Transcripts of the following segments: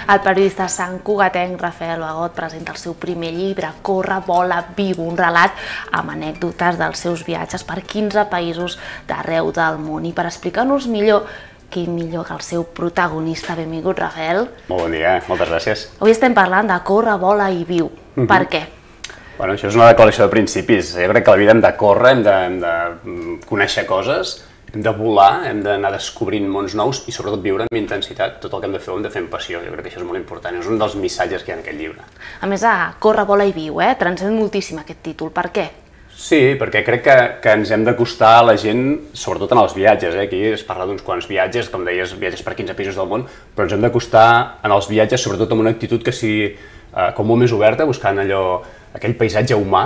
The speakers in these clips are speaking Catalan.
El periodista santcugatenc Rafael Bagot presenta el seu primer llibre, Corre, vola, viu, un relat amb anècdotes dels seus viatges per 15 països d'arreu del món. I per explicar-nos millor, qui millor que el seu protagonista. Benvingut, Rafael. Molt bon dia, moltes gràcies. Avui estem parlant de Corre, vola i viu. Per què? Bueno, això és una declaració de principis. Jo crec que a la vida hem de córrer, hem de conèixer coses, hem de volar, hem d'anar descobrint mons nous i sobretot viure amb intensitat. Tot el que hem de fer ho hem de fer amb passió. Jo crec que això és molt important. És un dels missatges que hi ha en aquest llibre. A més, Corre, vola i viu, transmet moltíssim aquest títol. Per què? Sí, perquè crec que ens hem d'acostar a la gent, sobretot en els viatges. Aquí es parla d'uns quants viatges, com deies, viatges per 15 països del món, però ens hem d'acostar en els viatges sobretot amb una actitud que sigui com molt més oberta, buscant aquell paisatge humà,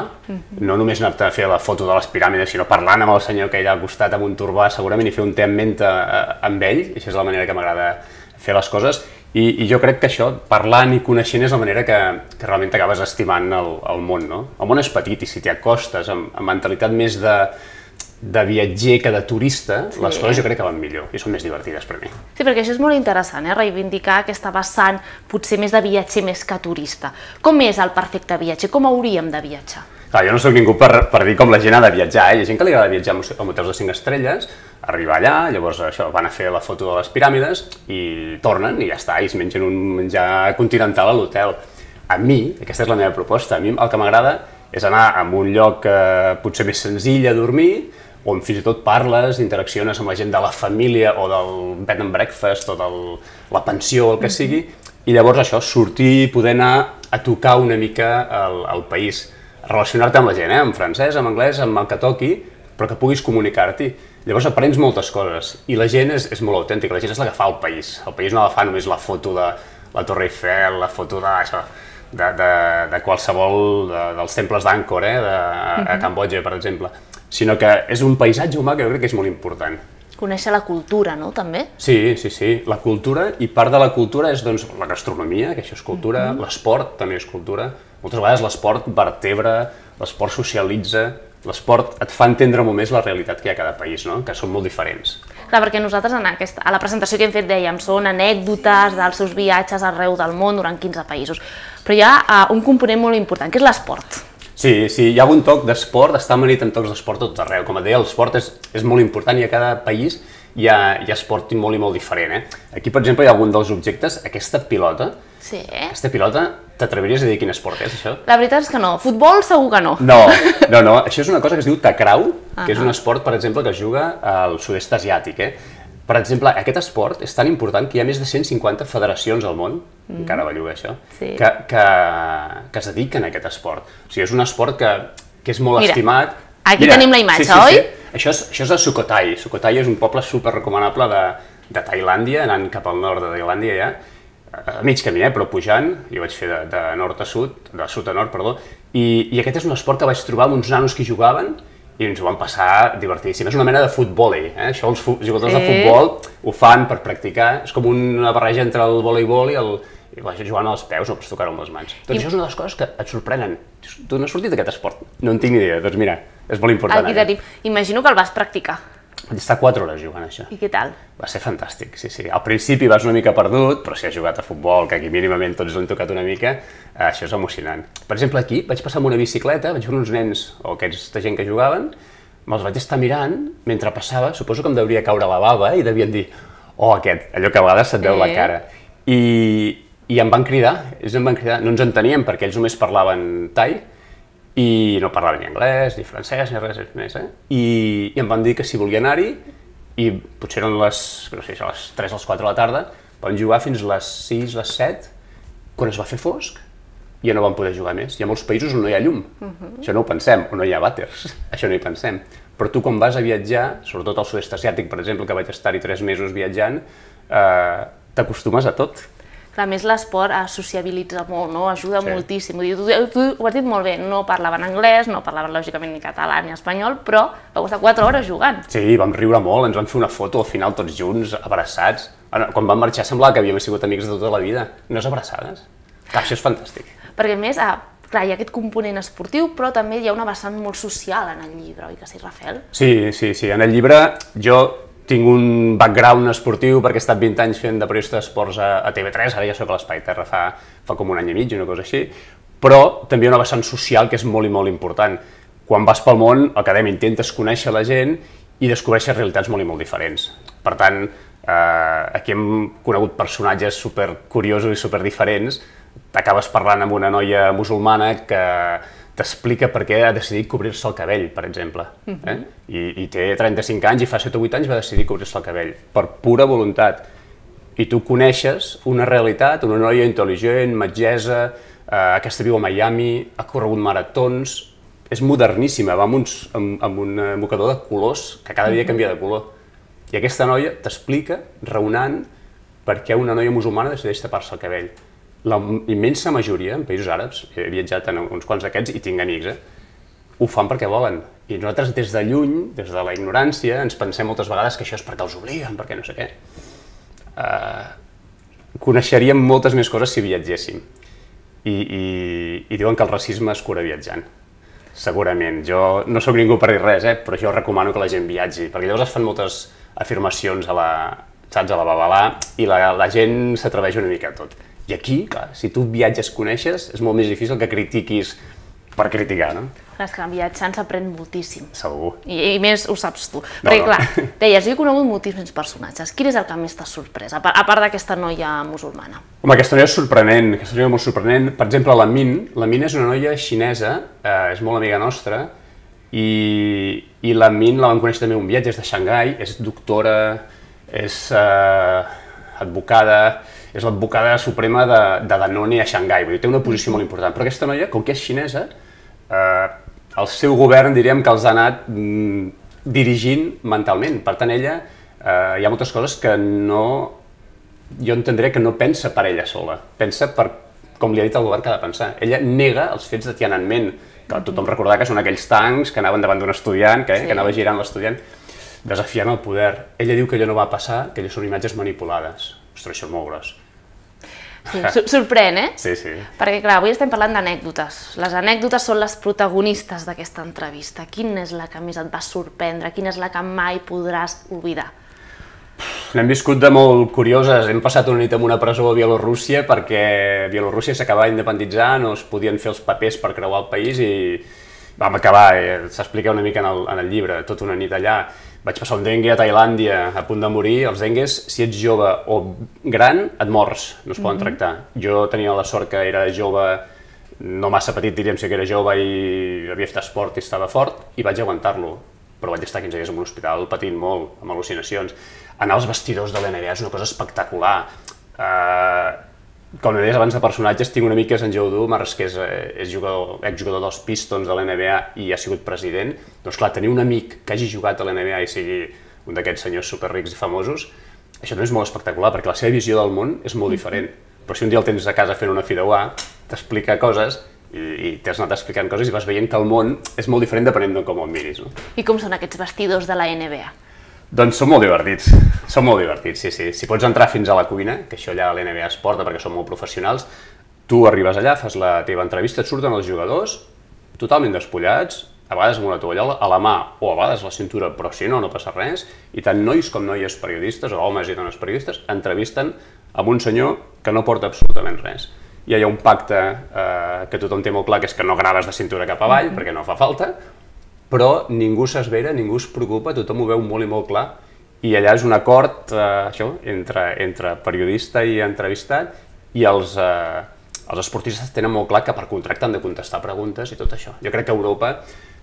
no només anar-te a fer la foto de les piràmides, sinó parlant amb el senyor que hi ha al costat amb un turbà, segurament, i fer un té en ment amb ell, i això és la manera que m'agrada fer les coses, i jo crec que això, parlant i coneixent, és la manera que realment t'acabes estimant el món, no? El món és petit, i si t'hi acostes amb mentalitat més de viatger que de turista, les coses jo crec que van millor i són més divertides per mi. Sí, perquè això és molt interessant, reivindicar aquesta vessant potser més de viatger més que turista. Com és el perfecte viatger? Com hauríem de viatjar? Clar, jo no soc ningú per dir com la gent ha de viatjar. Hi ha gent que li agrada viatjar a hotels de 5 estrelles, arribar allà, llavors això, van a fer la foto de les piràmides i tornen i ja està, i es mengen un menjar continental a l'hotel. A mi, aquesta és la meva proposta, a mi el que m'agrada és anar a un lloc potser més senzill a dormir, on fins i tot parles, interacciones amb la gent de la família o del bed and breakfast o de la pensió o el que sigui, i llavors això, sortir, poder anar a tocar una mica el país, relacionar-te amb la gent, en francès, en anglès, amb el que toqui, però que puguis comunicar-t'hi. Llavors aprens moltes coses i la gent és molt autèntica, la gent és la que fa el país no la fa només la foto de la Torre Eiffel, la foto de qualsevol dels temples d'Angkor, a Cambodja, per exemple, sinó que és un paisatge humà que jo crec que és molt important. Conèixer la cultura, no, també? Sí, la cultura, i part de la cultura és doncs la gastronomia, que això és cultura, l'esport també és cultura. Moltes vegades l'esport vertebra, l'esport socialitza, l'esport et fa entendre molt més la realitat que hi ha a cada país, no? Que són molt diferents. Clar, perquè nosaltres a la presentació que hem fet dèiem són anècdotes dels seus viatges arreu del món durant 15 països, però hi ha un component molt important, que és l'esport. Sí, hi ha un toc d'esport, està amanit en tocs d'esport tot arreu. Com et deia, l'esport és molt important i a cada país hi ha esport molt i molt diferent. Aquí, per exemple, hi ha algun dels objectes, aquesta pilota. Sí. Aquesta pilota, t'atreviries a dir quin esport és, això? La veritat és que no. Futbol segur que no. No, això és una cosa que es diu takraw, que és un esport, per exemple, que es juga al sud-est asiàtic. Per exemple, aquest esport és tan important que hi ha més de 150 federacions al món, encara belluga això, que es dediquen a aquest esport. O sigui, és un esport que és molt estimat. Aquí tenim la imatge, oi? Això és a Sukhothai. Sukhothai és un poble superrecomanable de Tailàndia, anant cap al nord de Tailàndia ja, a mig camí, però pujant, jo vaig fer de nord a sud, de sud a nord, perdó, i aquest és un esport que vaig trobar amb uns nanos que hi jugaven i ens ho vam passar divertidíssim. És una mena de futbòlei, això els jugadors de futbol ho fan per practicar, és com una barreja entre el voleibol i jugant als peus o pots tocar-ho amb les mans. Doncs això és una de les coses que et sorprenen. Tu no has sortit d'aquest esport? No en tinc ni idea, doncs mira, és molt important. Aquí tenim. Imagino que el vas practicar. Vaig estar 4 hores jugant això. I què tal? Va ser fantàstic, sí. Al principi vas una mica perdut, però si has jugat a futbol, que aquí mínimament tots l'han tocat una mica, això és emocionant. Per exemple, aquí vaig passar amb una bicicleta, vaig veure uns nens o aquesta gent que jugaven, me'ls vaig estar mirant mentre passava, suposo que em devia caure la bava i devien dir, oh, aquest, allò que a vegades se't veu la cara. I em van cridar, no ens enteníem perquè ells només parlaven tai, i no parlaven ni anglès, ni francès, ni res més, i em van dir que si volia anar-hi, i potser eren les 3 o les 4 de la tarda, vam jugar fins les 6, les 7, quan es va fer fosc, i ja no vam poder jugar més. Hi ha molts països on no hi ha llum, això no ho pensem, on no hi ha vàters, això no hi pensem. Però tu quan vas a viatjar, sobretot al sud-est asiàtic, per exemple, que vaig estar-hi 3 mesos viatjant, t'acostumes a tot. A més, l'esport sociabilitza molt, ajuda moltíssim. Tu ho has dit molt bé, no parlaven anglès, no parlaven lògicament ni català ni espanyol, però vau estar 4 hores jugant. Sí, vam riure molt, ens vam fer una foto al final tots junts, abraçats. Quan vam marxar semblava que havíem sigut amics de tota la vida. Unes abraçades. Això és fantàstic. Perquè a més, clar, hi ha aquest component esportiu, però també hi ha una vessant molt social en el llibre, oi que sí, Rafael? Sí, en el llibre jo tinc un background esportiu perquè he estat 20 anys fent de periodista d'esports a TV3, ara ja soc a l'Espai Terra fa com un any i mig, una cosa així, però també hi ha una vessant social que és molt i molt important. Quan vas pel món, el que dèiem, intentes conèixer la gent i descobreixes realitats molt i molt diferents. Per tant, aquí hem conegut personatges supercuriosos i superdiferents. Acabes parlant amb una noia musulmana que t'explica per què ha decidit cobrir-se el cabell, per exemple. I té 35 anys i fa 7 o 8 anys va decidir cobrir-se el cabell, per pura voluntat. I tu coneixes una realitat, una noia intel·ligent, metgessa, aquesta viu a Miami, ha corregut maratons, és moderníssima, va amb un mocador de colors que cada dia canvia de color. I aquesta noia t'explica, raonant, per què una noia musulmana decideix tapar-se el cabell. La immensa majoria, en països àrabs, he viatjat en uns quants d'aquests i tinc amics, ho fan perquè volen. I nosaltres des de lluny, des de la ignorància, ens pensem moltes vegades que això és perquè els obliguen, perquè no sé què. Coneixeríem moltes més coses si viatgéssim. I diuen que el racisme es cura viatjant. Segurament. Jo no sóc ningú per dir res, però jo recomano que la gent viatgi, perquè llavors es fan moltes afirmacions a la babalà i la gent s'atreveix una mica a tot. I aquí, clar, si tu viatges, coneixes, és molt més difícil que critiquis per criticar, no? Clar, és que viatjant s'aprèn moltíssim. Segur. I més ho saps tu. Perquè, clar, deies, jo he conegut moltíssims personatges. Quin és el que més t'ha sorprès, a part d'aquesta noia musulmana? Home, aquesta noia és sorprenent, aquesta noia és molt sorprenent. Per exemple, la Min és una noia xinesa, és molt amiga nostra, i la Min la vam conèixer també en un viatge, és de Xangai, és doctora, és advocada, és l'advocada suprema de Danone a Xangai, vull dir, té una posició molt important. Però aquesta noia, com que és xinesa, el seu govern diríem que els ha anat dirigint mentalment. Per tant, ella, hi ha moltes coses que jo entendré que no pensa per ella sola, pensa per com li ha dit el govern que ha de pensar. Ella nega els fets de Tiananmen, que tothom recordarà que són aquells tancs que anaven davant d'un estudiant, que anava girant l'estudiant, desafiant el poder. Ella diu que allò no va passar, que allò són imatges manipulades. Ostres, això és molt gros. Sí, sorprèn, Sí, sí. Perquè, clar, avui estem parlant d'anècdotes. Les anècdotes són les protagonistes d'aquesta entrevista. Quina és la que més et va sorprendre? Quina és la que mai podràs oblidar? N'hem viscut de molt curioses. Hem passat una nit en una presó a Bielorússia perquè Bielorússia s'acabava d'independitzar, no es podien fer els papers per creuar el país i vam acabar, s'explica una mica en el llibre, tota una nit allà. Vaig passar un dengue a Tailàndia a punt de morir. Els dengues, si ets jove o gran, et mors, no es poden tractar. Jo tenia la sort que era jove, no massa petit diríem si que era jove i havia fet esport i estava fort, i vaig aguantar-lo. Però vaig estar 15 dies en un hospital patint molt, amb al·lucinacions. Anar als vestidors de l'NBA és una cosa espectacular. Com deies abans de personatges, tinc un amic que és en Joe Dumars, que és exjugador dels Pistons de l'NBA i ha sigut president. Doncs clar, tenir un amic que hagi jugat a l'NBA i sigui un d'aquests senyors superrics i famosos, això també és molt espectacular, perquè la seva visió del món és molt diferent. Però si un dia el tens a casa fent una fideuà, t'explica coses i t'has anat explicant coses i vas veient que el món és molt diferent depenent de com el miris. I com són aquests vestidors de la NBA? Doncs són molt divertits, sí. Si pots entrar fins a la cuina, que això allà a l'NBA es porta perquè són molt professionals, tu arribes allà, fas la teva entrevista, et surten els jugadors totalment despullats, a vegades amb una tovallola a la mà o a vegades a la cintura, però si no, no passa res, i tant nois com noies periodistes, o homes i dones periodistes, entrevisten amb un senyor que no porta absolutament res. Hi ha un pacte que tothom té molt clar, que és que no graves de cintura cap avall, perquè no fa falta, però ningú s'esvera, ningú es preocupa, tothom ho veu molt i molt clar, i allà és un acord entre periodista i entrevistat, i els esportistes tenen molt clar que per contracte han de contestar preguntes i tot això. Jo crec que a Europa,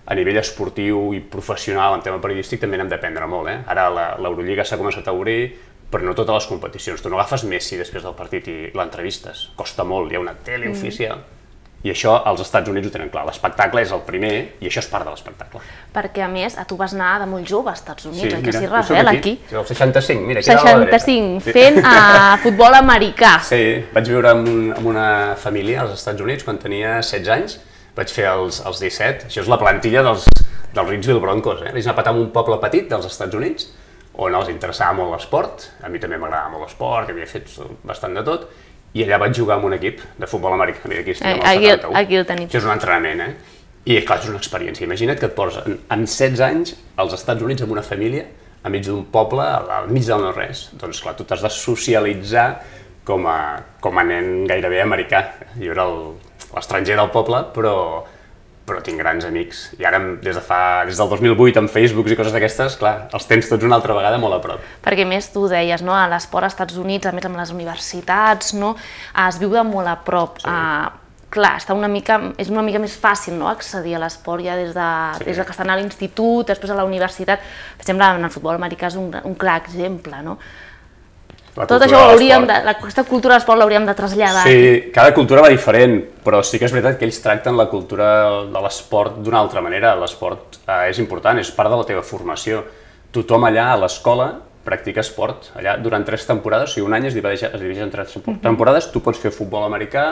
a nivell esportiu i professional en tema periodístic, també n'hem d'aprendre molt. Ara l'Eurolliga s'ha començat a obrir, però no totes les competicions. Tu no agafes Messi després del partit i l'entrevistes, costa molt, hi ha una tele oficial. I això als Estats Units ho tenen clar, l'espectacle és el primer i això és part de l'espectacle. Perquè a més, tu vas anar de molt jove als Estats Units, que s'hi revela aquí. Sí, el 65, mira, aquí a la dreta. 65, fent futbol americà. Sí, vaig viure amb una família als Estats Units quan tenia 16 anys, vaig fer els 17, això és la plantilla dels Reidsville Broncos, vaig anar a patar en un poble petit dels Estats Units, on els interessava molt l'esport, a mi també m'agradava molt l'esport, que havia fet bastant de tot, i allà vaig jugar amb un equip de futbol americà, mira, aquí estem al 71. Aquí el tenim. Això és un entrenament, I clar, és una experiència. Imagina't que et poses amb 16 anys als Estats Units amb una família, enmig d'un poble, al mig del no-res. Doncs clar, tu t'has de socialitzar com a nen gairebé americà. Jo era l'estranger del poble, però tinc grans amics. I ara, des del 2008, amb Facebooks i coses d'aquestes, clar, els tens tots una altra vegada molt a prop. Perquè més tu deies, no? A l'esport als Estats Units, a més amb les universitats, no? Es viu de molt a prop. Sí. Clar, és una mica més fàcil, no? Accedir a l'esport ja des que estan a l'institut, després a la universitat. Per exemple, en el futbol americà és un clar exemple, no? Tot això aquesta cultura de l'esport l'hauríem de traslladar. Sí, cada cultura va diferent, però sí que és veritat que ells tracten la cultura de l'esport d'una altra manera. L'esport és important, és part de la teva formació. Tothom allà a l'escola practica esport. Allà durant 3 temporades, o sigui, un any es divideix en 3 temporades, tu pots fer futbol americà,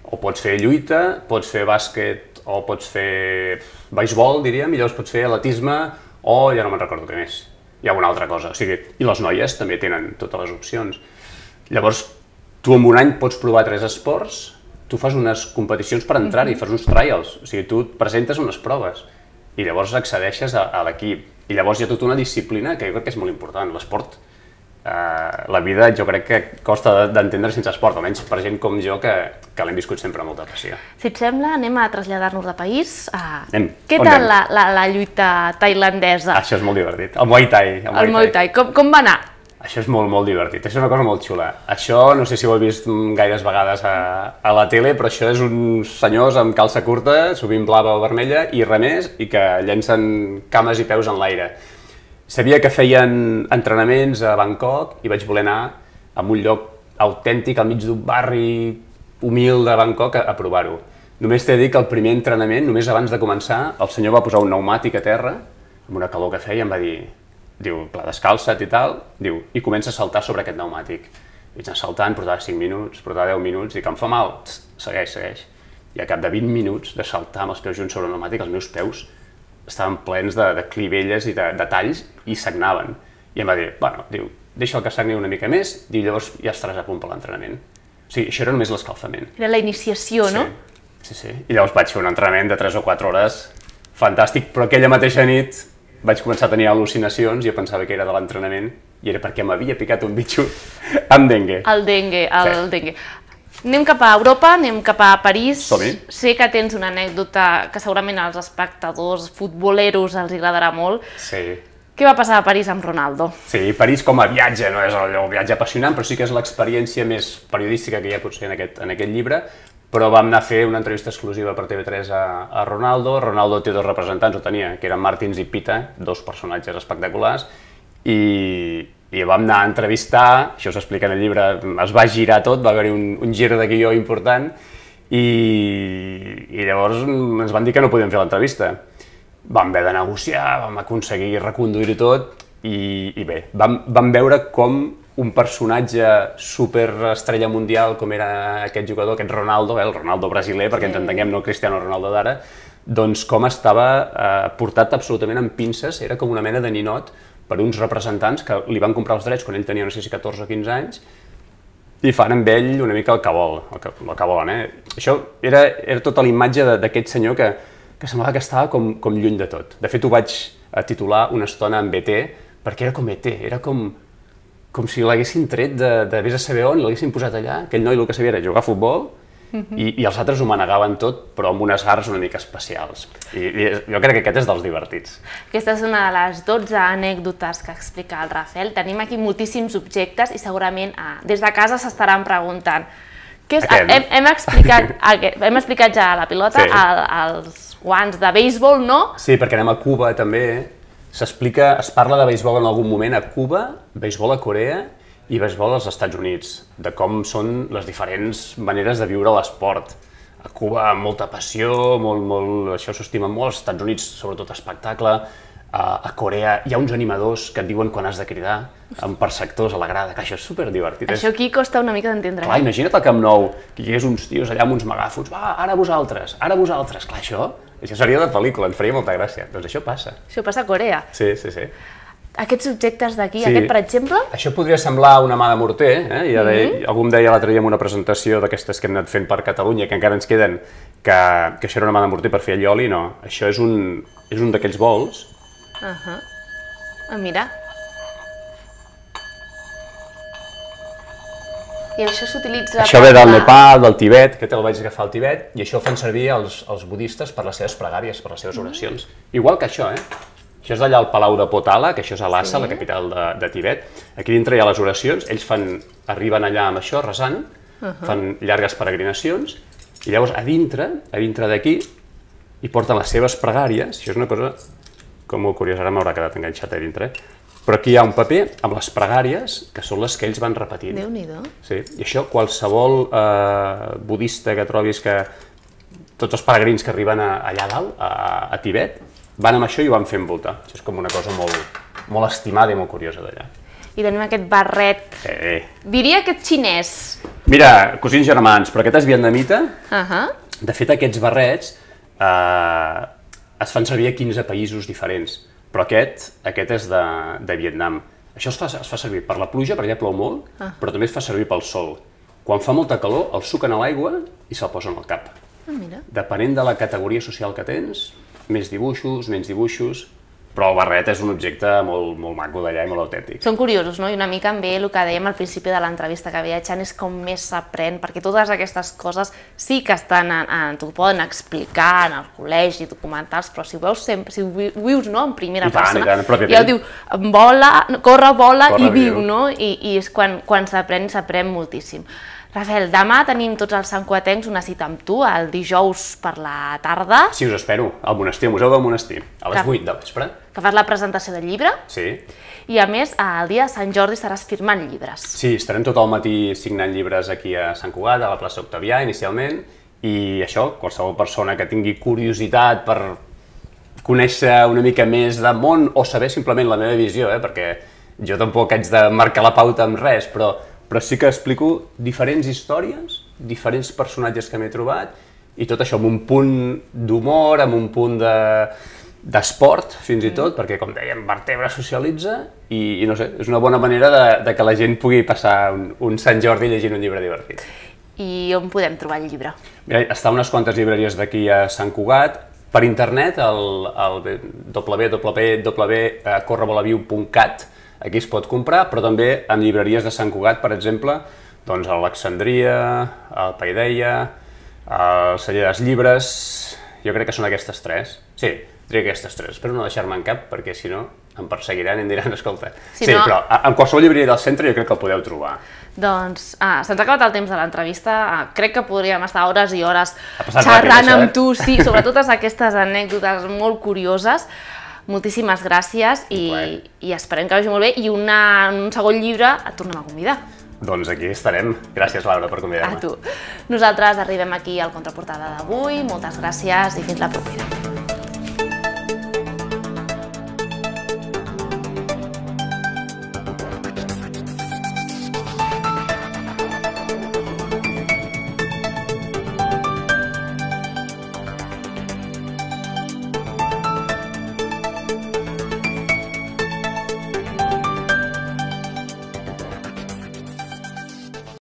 o pots fer lluita, pots fer bàsquet, o pots fer beisbol, diríem, i llavors pots fer atletisme, o ja no me'n recordo què més. Hi ha una altra cosa, o sigui, i les noies també tenen totes les opcions. Llavors, tu en un any pots provar 3 esports, tu fas unes competicions per entrar-hi, fas uns trials, o sigui, tu et presentes unes proves i llavors accedeixes a l'equip. I llavors hi ha tota una disciplina que jo crec que és molt important. L'esport, la vida jo crec que costa d'entendre sense esport, almenys per gent com jo que l'hem viscut sempre amb molta passió. Si et sembla, anem a traslladar-nos de país. Què tal la lluita tailandesa? Això és molt divertit. El Muay Thai. El Muay Thai. Com va anar? Això és molt, molt divertit. Això és una cosa molt xula. Això, no sé si ho heu vist gaires vegades a la tele, però això és uns senyors amb calça curta, sovint blava o vermella, i remers, i que llencen cames i peus en l'aire. Sabia que feien entrenaments a Bangkok i vaig voler anar a un lloc autèntic, al mig d'un barri humil de Bangkok, a provar-ho. Només t'he de dir que el primer entrenament, només abans de començar, el senyor va posar un pneumàtic a terra, amb una calor que feia, em va dir, diu, clar, descalça't i tal, diu, i comença a saltar sobre aquest pneumàtic. Vaig anar saltant, portava 5 minuts, portava 10 minuts, i que em fa mal, segueix. I a cap de 20 minuts de saltar amb els peus junts sobre el pneumàtic, els meus peus estaven plens de clivelles i de talls i sagnaven. I em va dir, bueno, diu, deixa'l que sagni una mica més, i llavors ja estaràs a punt per l'entrenament. O sigui, això era només l'escalfament. Era la iniciació, no? Sí. I llavors vaig fer un entrenament de 3 o 4 hores, fantàstic, però aquella mateixa nit vaig començar a tenir al·lucinacions i jo pensava que era de l'entrenament i era perquè m'havia picat un bitxo amb dengue. El dengue. Anem cap a Europa, anem cap a París. Som-hi. Sé que tens una anècdota que segurament als espectadors futboleros els agradarà molt. Sí. Què va passar a París amb Ronaldo? Sí, París com a viatge, no és el viatge apassionant, però sí que és l'experiència més periodística que hi ha potser en aquest llibre, però vam anar a fer una entrevista exclusiva per TV3 a Ronaldo. Ronaldo té 2 representants, o tenia, que eren Martins i Pita, 2 personatges espectaculars, i vam anar a entrevistar, això s'explica en el llibre, es va girar tot, va haver-hi un gir de guió important, i llavors ens van dir que no podíem fer l'entrevista. Vam haver de negociar, vam aconseguir reconduir-ho tot, i bé, vam veure com un personatge superestrella mundial com era aquest jugador, aquest Ronaldo, el Ronaldo brasiler, perquè ens entenguem, no el Cristiano Ronaldo d'ara, doncs com estava portat absolutament amb pinces, era com una mena de ninot per uns representants que li van comprar els drets quan ell tenia, no sé si 14 o 15 anys, i fan amb ell una mica el que volen. Això era tota la imatge d'aquest senyor que semblava que estava com lluny de tot. De fet, ho vaig titular una estona amb ET, perquè era com ET, era com si l'haguessin tret de vés a saber on i l'haguessin posat allà. Aquell noi el que sabia era jugar a futbol i els altres ho manegaven tot, però amb unes garres una mica especials. I jo crec que aquest és dels divertits. Aquesta és una de les 12 anècdotes que explica el Rafael. Tenim aquí moltíssims objectes i segurament des de casa s'estaran preguntant. Hem explicat ja la pilota, els guants de béisbol, no? Sí, perquè anem a Cuba també. Es parla de béisbol en algun moment a Cuba, béisbol a Corea i béisbol als Estats Units, de com són les diferents maneres de viure l'esport. A Cuba amb molta passió, això s'estima molt, als Estats Units sobretot espectacle, a Corea hi ha uns animadors que et diuen quan has de cridar, per sectors a la grada, que això és superdivertit. Això aquí costa una mica d'entendre. Clar, imagina't al Camp Nou, que hi hagués uns tios allà amb uns megàfons, va, ara vosaltres, clar, això seria de pel·lícula, ens faria molta gràcia. Doncs això passa. Això passa a Corea. Sí. Aquests objectes d'aquí, aquest per exemple? Això podria semblar una mà de morter, algú em deia l'altre dia en una presentació d'aquestes que hem anat fent per Catalunya, que encara ens queden, que això era una mà de morter per fer allioli, no. Això és un d'aquells bols. Mira. I això s'utilitza... Això ve del Nepal, del Tibet, que el vaig agafar al Tibet, i això ho fan servir els budistes per les seves pregàries, per les seves oracions. Igual que això, Això és d'allà al Palau de Potala, que això és a Lhasa, la capital de Tibet. Aquí dintre hi ha les oracions, ells arriben allà amb això, resant, fan llargues peregrinacions, i llavors a dintre d'aquí, hi porten les seves pregàries. Això és una cosa com molt curiosa, ara m'haurà quedat enganxat a dintre, però aquí hi ha un paper amb les pregàries, que són les que ells van repetint. Déu-n'hi-do. Sí, i això qualsevol budista que trobis, que tots els peregrins que arriben allà dalt, a Tibet, van amb això i ho van fent voltar. Això és com una cosa molt estimada i molt curiosa d'allà. I tenim aquest barret, diria que és xinès. Mira, cosins germans, però aquest és vietnamita. De fet, aquests barrets es fan servir a 15 països diferents, però aquest és de Vietnam. Això es fa servir per la pluja, perquè allà plou molt, però també es fa servir pel sol. Quan fa molta calor, el suquen a l'aigua i se'l posen al cap. Depenent de la categoria social que tens, més dibuixos, menys dibuixos, però el barret és un objecte molt maco d'allà i molt autèntic. Són curiosos, no? I una mica també el que dèiem al principi de l'entrevista, que viatjant és com més s'aprèn, perquè totes aquestes coses sí que estan, t'ho poden explicar en el col·legi, documentals, però si ho veus sempre, si ho vius en primera persona, ja ho diu, corre, vola i viu, no? I és quan s'aprèn moltíssim. Rafael, demà tenim tots els santcugatencs una cita amb tu, el dijous per la tarda. Sí, us espero, al monestir, al Museu del Monestir, a les 8 del vespre. Que fas la presentació del llibre. Sí. I a més, el dia de Sant Jordi estaràs firmant llibres. Sí, estarem tot el matí signant llibres aquí a Sant Cugat, a la plaça Octavià, inicialment, i això, qualsevol persona que tingui curiositat per conèixer una mica més de món o saber simplement la meva visió, perquè jo tampoc haig de marcar la pauta amb res, però sí que explico diferents històries, diferents personatges que m'he trobat, i tot això amb un punt d'humor, amb un punt d'esport, fins i tot, perquè, com dèiem, vertebra socialitza, i no sé, és una bona manera de que la gent pugui passar un Sant Jordi llegint un llibre divertit. I on podem trobar el llibre? Mira, està a unes quantes llibreries d'aquí a Sant Cugat, per internet, al www.correvolaviu.cat, aquí es pot comprar, però també en llibreries de Sant Cugat, per exemple, doncs a l'Alexandria, al Paideia, al Celler dels Llibres, jo crec que són aquestes tres. Sí, diria aquestes tres, espero no deixar-me en cap, perquè si no em perseguiran i em diran, escolta. Sí, però en qualsevol llibreria del centre jo crec que el podeu trobar. Doncs se'ns ha acabat el temps de l'entrevista, crec que podríem estar hores i hores xerrant amb tu, sí, sobre totes aquestes anècdotes molt curioses. Moltíssimes gràcies i esperem que vagi molt bé, i un segon llibre et tornem a convidar. Doncs aquí estarem. Gràcies, Laura, per convidar-me. A tu. Nosaltres arribem aquí al Contraportada d'avui, moltes gràcies i fins la propera.